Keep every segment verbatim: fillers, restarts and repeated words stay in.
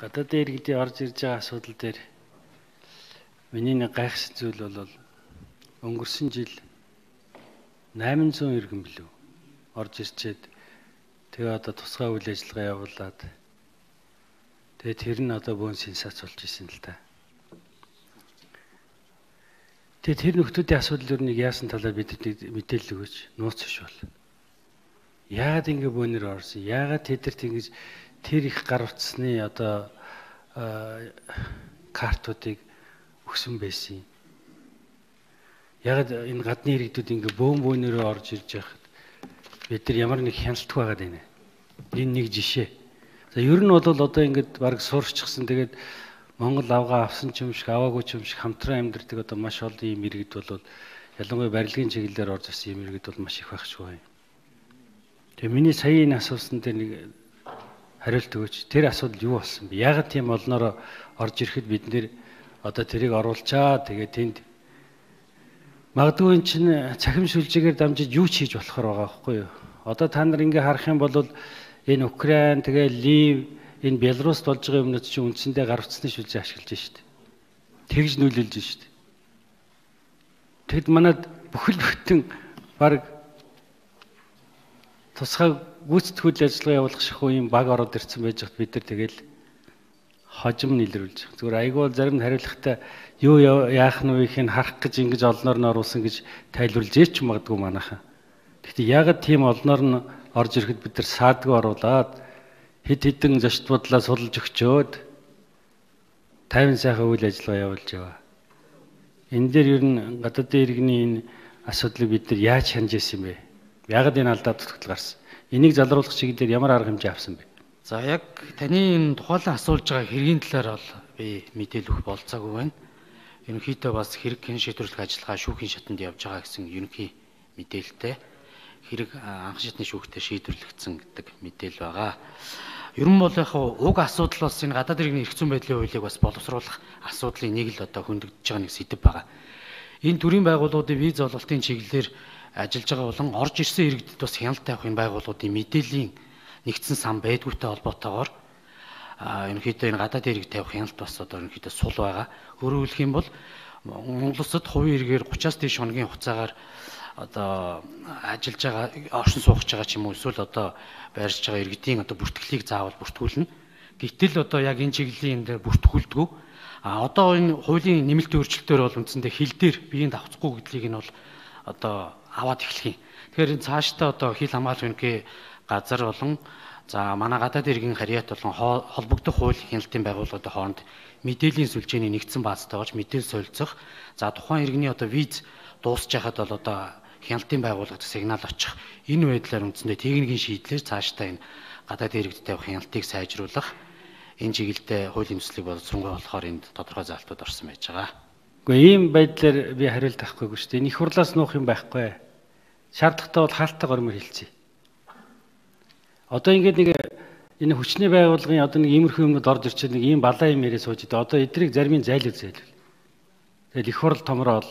Гадаад иргэдийн орж ирж байгаа асуудал дээр миний нэг гайхсан зүйл бол өнгөрсөн жил найман зуун иргэн билүү орж ирчээд тэгээ одоо тусгай үйл ажиллагаа явуулаад тэгээ тэр нь одоо бөөн сенсац болж исэн л та. Тэгээ тэр нөхдүүдийн асуудал өрнийг яасан талаар бидэд мэдээлэл өгөөч. Нууц биш бол. Яагаад ингэ бөөнөр орсон? Яагаад тэдэрт ингэж тэр их гар утасны одоо картуудыг өгсөн байсан юм? Яагаад энэ гадны иргэдүүд ингэ бөөн бөөнөрөө орж ирж байхад бид нар ямар нэг хяналтгүй байгаад байна. Энэ нэг жишээ. За ер нь бол одоо ингэж баг сууршчихсан. Тэгээд Монгол авгаа авсан ч юм шиг аваагүй ч юм шиг хамтран амьдардаг одоо маш олон юм иргэд бол ялангуяа барилгын чиглэлээр орж ирсэн юм иргэд бол маш их байх шүү. Тэгээ миний сая энэ асуусан дээр нэг хариулт өгөөч. Тэр асуудал юу болсон бэ? Яагаад тийм олноор орж ирэхэд бид нэр одоо тэрийг оруулчаа. Тэгээ тэнд магадгүй эн чинь цахим сүлжээгээр дамжиж юу ч хийж болохоор байгаа байхгүй юу? Одоо та нар ингээ харах юм бол энэ Украин тэгээ Лив энэ Беларуст болж байгаа юмнууд чинь үндсэндээ гар утасны сүлжээ ашиглаж штэ. Тэгж нөлөөлж штэ. Тэгэд манад бүхэл бүтэн баг тусгай гүйцэтгэл ажиллагаа явуулах шахуу юм баг ороод ирсэн байж хат бид нар тэгэл хожим нэлрүүлж. Зүгээр айгүй зарим хариулахтай юу яах нь вэ их нь харах гэж ингэж олноор нь оруулсан гэж тайлбарлаж ээч магадгүй манайхаа. Гэхдээ ягаад тийм олноор нь орж ирэхэд бид нар саадгүй оруулаад хэд хэдэн зочд бодлоо сулж өгчөөд тайван сайхан үйл ажиллагаа явуулж яваа. Энэ дээр ер нь гадаадын иргэний энэ асуудлыг бид нар яаж хянаж ирсэн бэ? Ягаад энэ алдаа тутагтал гарсан? Энийг залруулах чиглэлээр ямар арга хэмжээ авсан бэ? За яг таны энэ тухайлан асуулж байгаа хэргийн талаар бол би мэдээлэл өгөх болцоогүй байна. Ерөнхийдөө бас хэрэг хэн шийдвэрлэх ажиллагаа шүүхийн шатанд явж байгаа гэсэн ерөнхий мэдээлэлтэй хэрэг анх шатны шүүхтэй шийдвэрлэгдсэн гэдэг мэдээлэл байгаа. Ер нь бол яг уг асуудал бас энэ гадаад иргэний эрх зүйн байдлын хуулийг бас боловсруулах асуудлын нэг л одоо хөндөгдөж байгаа нэг сэдэв байгаа. Энэ төрлийн байгууллагуудын виз олголтын чиглэлээр ажиллаж байгаа болон орж ирсэн иргэдэд бас хяналт тавих энэ байгууллагуудын мэдээллийн нэгдсэн сан байдгүйтэй холбоотойгоор ерөнхийдөө энэ гадаад иргэд тавих хяналт бас одоо ерөнхийдөө сул байгаа. Өөрөөр хэлэх юм бол Монгол улсад хувийн иргээр гучаас дээш хоногийн хугацаагаар одоо ажиллаж байгаа оршин суугч байгаа ч юм уу эсвэл одоо байршиж байгаа иргэдийн одоо бүртгэлийг заавал бүртгүүлнэ. Гэтэл одоо яг энэ чиглэлийн энэ дээр бүртгүүлдэггүй. А одоо энэ хуулийн нэмэлтийн өөрчлөлтөөр бол үндсэндээ хил дээр биеийн давцахгүй гэдгийг нь бол одоо аваад эхлэх юм. Тэгэхээр энэ цаашдаа одоо хил хамгаалах үнэхээр газар болон за манай гадаад иргэн харьяат болон холбогдох хууль хяналтын байгууллагуудын хооронд мэдээллийн сүлжээний нэгдсэн баазтайгооч мэдээлэл солилцох. За тухайн иргэний одоо виз дуусч байхад бол одоо хяналтын байгууллагад сигнал очих. Энэ байдлаар үндсэндээ техникийн шийдлээр цаашдаа энэ гадаад иргэдэд тавих хяналтыг сайжруулах энэ чиглэлдээ хуулийн төслийг боловсруулах болохоор энд тодорхой заалтууд орсон байж байгаа. Гэхдээ ийм байдлаар би хариулт авахгүйгүй шүү дээ. Энийх хурлаас нуух юм байхгүй. Шаардлагатай бол хаалттай гормоор хэлцээ. Одоо ингээд нэг энэ хүчний байгууллагын одоо нэг иймэрхүү юмнууд орж ирчээд нэг ийм балаа юм яриа сууж идэв. Одоо эдрийг заримын зайлуул зайлуул. Тэгэл их хурл томроод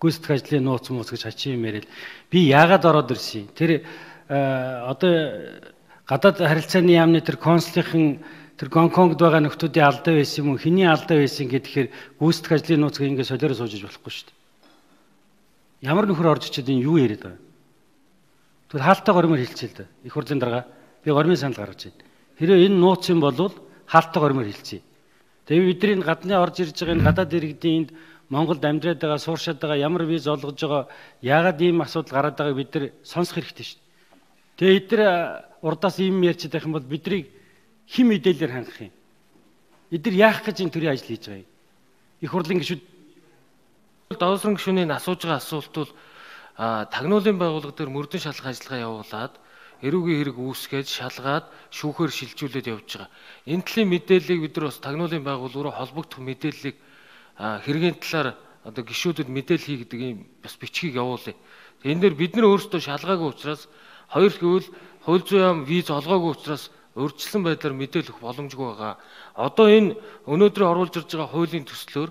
гүйцэтгэх ажлын нууц мууц гэж хачи юм яриад би яагаад ороод ирсэн? Тэр одоо гадаад харилцааны яамны тэр консулын тэр Гонконгд байгаа нөхдүүдийн алдаа байсан юм уу? Хэний алдаа байсан гэхээр гүйцэтгэх ажлын нууцыг ингээд солиороо суужиж болохгүй шүү дээ. Ямар нөхөр орж ичээд энэ юу яриад байгаа? Тэр хаалттай гормоор хэлцээ л да. Их хурлын дарга би гормын санал гаргаж байна. Хэрэв энэ нууц юм бол хаалттай гормоор хэлцээ. Тэгээ бидний энэ гадны орж ирж байгаа энэ гадаад иргэдийн энд Монголд амьдраад байгаа, сууршаад байгаа ямар виз олгож байгаа, яагаад ийм асуудал гараад байгааг бид нар сонсох хэрэгтэй шүү дээ. Тэгээ эдгээр урдаас ийм ярьж байх юм бол биднийг хэн мэдээлэлээр хангах юм? Эдгээр яах гэж энэ төрлийн ажил хийж байгаа юм? Их хурлын гишүүд Давсран гишүүний асууж байгаа асуулт бол тагнуулын байгууллага дээр мөрдөн шалгах ажиллагаа явуулаад эрүүгийн хэрэг үүсгээд шалгаад шүүхээр шилжүүлээд явж байгаа. Энэ төрлийн мэдээллийг бид нар бас тагнуулын байгууллага руу холбогдох мэдээллийг хэргийн талаар одоо гишүүдэд мэдээлэл хий гэдэг ийм бас бичгийг явуулъя. Энэ дээр бид нар өөрсдөө шалгаагүй учраас хоёр гэвэл хууль зүйн яам виз олгоогүй учраас өөрчлөсөн байдлаар мэдээлэл өгөх боломжгүй байгаа. Одоо энэ өнөөдөр оруулж ирж байгаа хуулийн төслөөр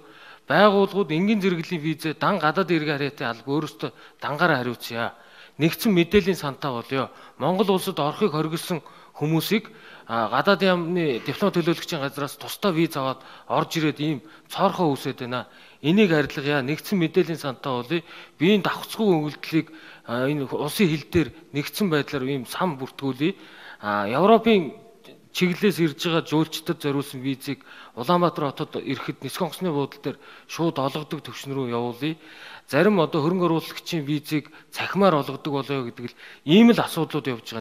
байгууллагууд энгийн зэрэглэлийн визээ дан гадаад иргэн харьяатын алба өөрөөсөө дангаараа хариуцъя. Нэгдсэн мэдээллийн сантаа болёо. Монгол улсад орохыг хоригдсон хүмүүсийг гадаад яамны диплом төлөөлөгчийн газраас тусдаа виз аваад орж ирээд ийм цоорхоо үүсээд байна. Энийг арилгая, нэгдсэн мэдээллийн сантай болъё. Биеийн давхцгүй өгөгдлийг энэ улсын хил дээр нэгдсэн байдлаар ийм сан бүртгүүлье. Европын чиглэлээс ирж байгаа жуулчдад зориулсан визийг Улаанбаатар хотод ирэхэд нисэх онгоцны буудлын дээр шууд олгодог төвшин рүү явуулъя. Зарим одоо хөрөнгө оруулагчийн визийг цахимаар олгодог болоё гэдэг л ийм л асуудлууд явж байгаа.